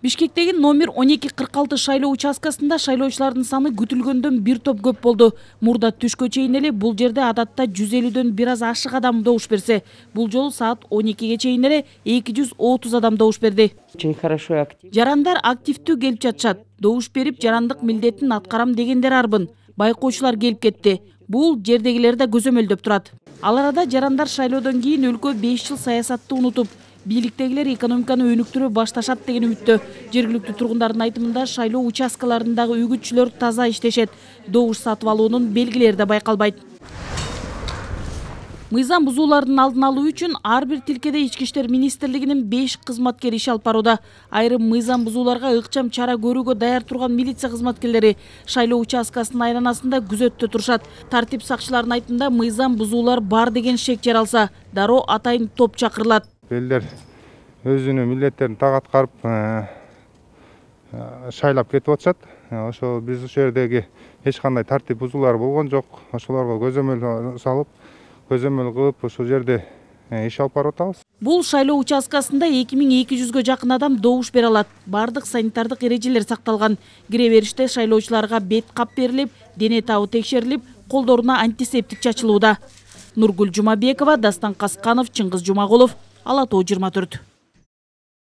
Бишкектеги номер 1246 шайлоо участкасында шайлоочулардын саны күтүлгөндөн бир топ көп болду. Мурда түшкө чейин эле бул жерде адатта 150дөн бир аз ашык адам добуш берсе, бул жолу саат 12ге чейин эле 230 адам добуш берди. Жарандар активдүү келип жатышат. Добуш берип, жарандык милдетин аткарам дегендер арбын. Байкоочулар келип кетти. Бул жердегилер да көзөмөлдөп турат. Ал арада жарандар шайлоодон кийин өлкө 5 жыл саясатты унутуп, бийликтегилер экономиканы өнүктүрө башташат деген үмүттө. Жергиликтүү тургундардын айтымында шайлоо участкаларындагы үгүтчүлөр таза иштешет. Добуш сатып алуунун белгилери да байкалбайт. Мыйзам бузуулардын алдын алуу үчүн ар бир тилкеде Ички иштер министрлигинин 5 кызматкери иш алып барууда. Айрым мыйзам бузууларга ыкчам чара көрүүгө даяр турган милиция кызматкерлери шайлоо участкасынын айланасында күзөттө турушат. Тартип сакчыларынын айтымында мыйзам бузуулар бар деген шек жаралса, дароо атайын топ чакырылат. Элдер өзүнүн милдеттерин так аткарып шайлап кетип атышат. Ошо биз ушул жердеги эч кандай тартип бузуулар болгон жок. Ошолорго көзөмөл салып, көзөмөл кылып ушул жерде иш алып барып атабыз. Бул шайлоо участкасында 2200гө жакын адам добуш бере алат. Бардык санитардык эрежелер сакталган. Кире бериште шайлоочуларга бет кап берилип, дене табы текшерилип, колдоруна антисептик чачылууда. Нургүл Жумабекова, Дастан Касканов, Чыңгыз Жумагулов, Ала Тоо 24.